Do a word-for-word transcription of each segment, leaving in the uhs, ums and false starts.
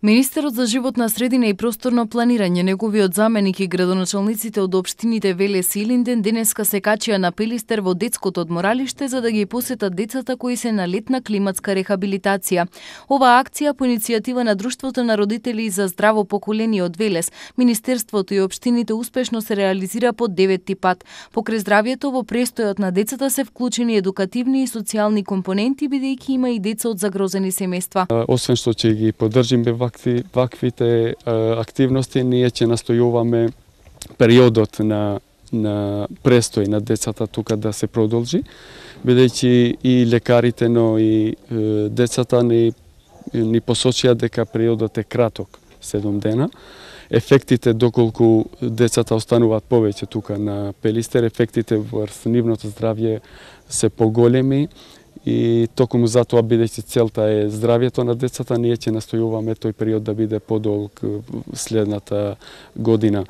Министерот за животна средина и просторно планирање, неговиот заменик и градоначалниците од општините Велес и Илинден денеска се качија на Пелистер во детското одморалиште за да ги посетат децата кои се на летна климатска рехабилитација. Оваа акција по иницијатива на Друштвото на родители за здраво поколение од Велес, Министерството и општините успешно се реализира по деветти пат. Покрај здравјето во престојот на децата се вклучени едукативни и социјални компоненти, бидејќи има и деца од загрозени семејства. Освен што ќе ги поддржиме ваквите активности, ние ќе настојуваме периодот на на престој на децата тука да се продолжи, бидејќи и лекарите, но и е, децата ни ни посочија дека периодот е краток, седум дена. Ефектите доколку децата остануваат повеќе тука на Пелистер, ефектите врз нивното здравје се поголеми. И токму затоа, бидејќи целта е здравјето на децата, ние ќе настојуваме тој период да биде подолг следната година.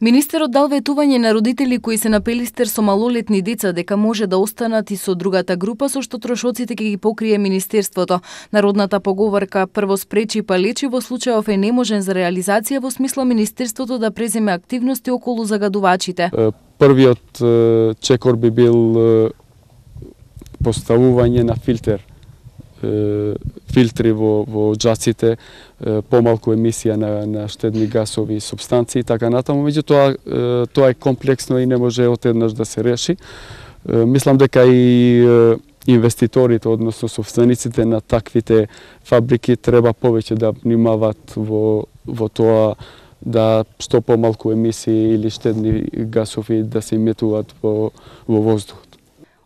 Министерот дал ветување на родители кои се на Пелистер со малолетни деца дека може да останат и со другата група, со што трошоците ќе ги покрие Министерството. Народната поговорка прво спречи па лечи во случајов е неможен за реализација, во смисла Министерството да преземе активности околу загадувачите. Првиот чекор би бил поставување на филтер, филтри во, во џаците, помалку емисија на, на штедни гасови и субстанции и така натаму. Меѓутоа, тоа е комплексно и не може одеднаш да се реши. Мислам дека и инвеститорите, односно собствениците на таквите фабрики треба повеќе да внимаваат во, во тоа да што помалку емисии или штедни гасови да се иметуваат во, во воздухот.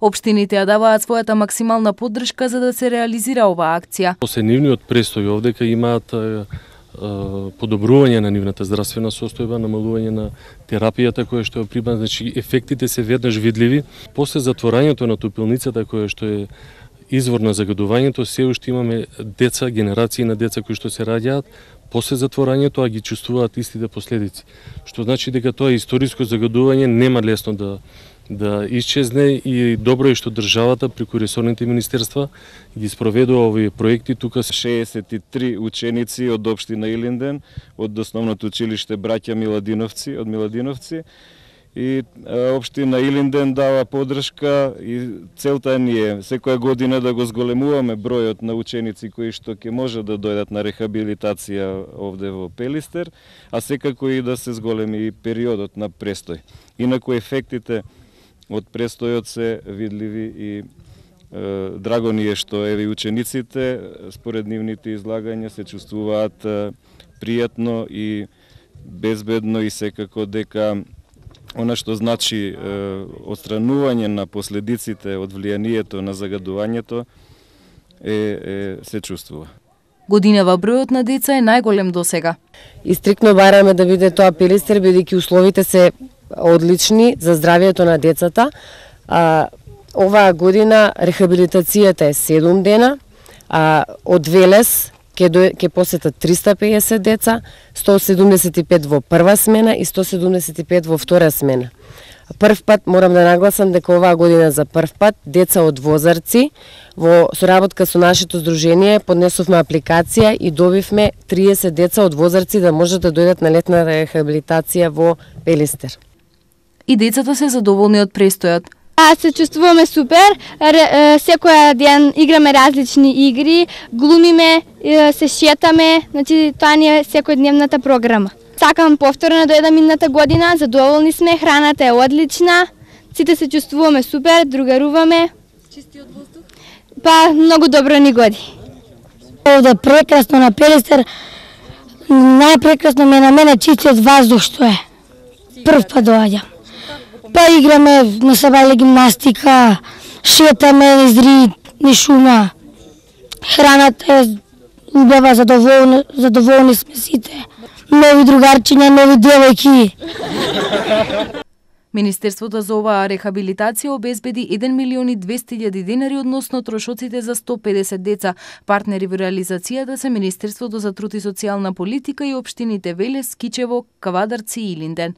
Општините ја даваат својата максимална поддршка за да се реализира оваа акција. После нивниот престој овдека имаат а, а, подобрување на нивната здравствена состојба, намалување на терапијата која што е прибавена, значи ефектите се веднаш видливи. После затворањето на топилницата која што е извор на загадувањето, се уште имаме деца, генерации на деца кои што се раѓаат после затворањето, а ги чувствуваат истите последици. Што значи дека тоа историско загадување нема лесно да да исчезне и добро е што државата преку ресорните министерства ги спроведува овие проекти. Тука се шеесет и три ученици од општина Илинден, од основното училиште Браќа Миладиновци, од Миладиновци, и општина Илинден дава поддршка и целта ни е секоја година да го зголемуваме бројот на ученици кои што ќе може да дојдат на рехабилитација овде во Пелистер, а секако и да се зголеми и периодот на престој. Инаку ефектите од престојот се видливи и е, драго ни е што еве учениците според нивните излагања се чувствуваат е, пријатно и безбедно и секако дека она што значи е, отстранување на последиците од влијанието на загадувањето е, е се чувствува. Годинава бројот на деца е најголем досега. И стрикно бараме да биде тоа Пелистер, бидејќи условите се одлични за здравјето на децата. А, оваа година рехабилитацијата е седум дена, а од Велес ќе ќе посетат триста и педесет деца, сто седумдесет и пет во прва смена и сто седумдесет и пет во втора смена. Прв пат морам да нагласам дека оваа година за прв пат деца од Возарци во соработка со нашето здружение поднесовме апликација и добивме триесет деца од Возарци да можат да дојдат на летна рехабилитација во Пелистер. И децата се задоволни од престојот. А се чувствуваме супер, секој ден играме различни игри, глумиме, се шетаме, значи тоа ни е секојдневната програма. Сакам повторно да дојдам идната година, задоволни сме, храната е одлична, сите се чувствуваме супер, другаруваме. Чистиот воздух? Па, многу добро ни годи. Овде прекрасно на Пелистер, најпрекрасно ми е на мене чистиот воздух што е. Прв пат доаѓам. Па играме на сабајле гимнастика, шетаме низ ри, низ шума. Храната е убава, задоволни, задоволни сме сите. Нови другарчиња, нови девојки. Министерството за оваа рехабилитација обезбеди еден милион и двесте илјади денари односно трошоците за сто и педесет деца. Партнери во реализацијата се Министерството за труд и социјална политика и општините Велес, Кичево, Кавадарци и Илинден.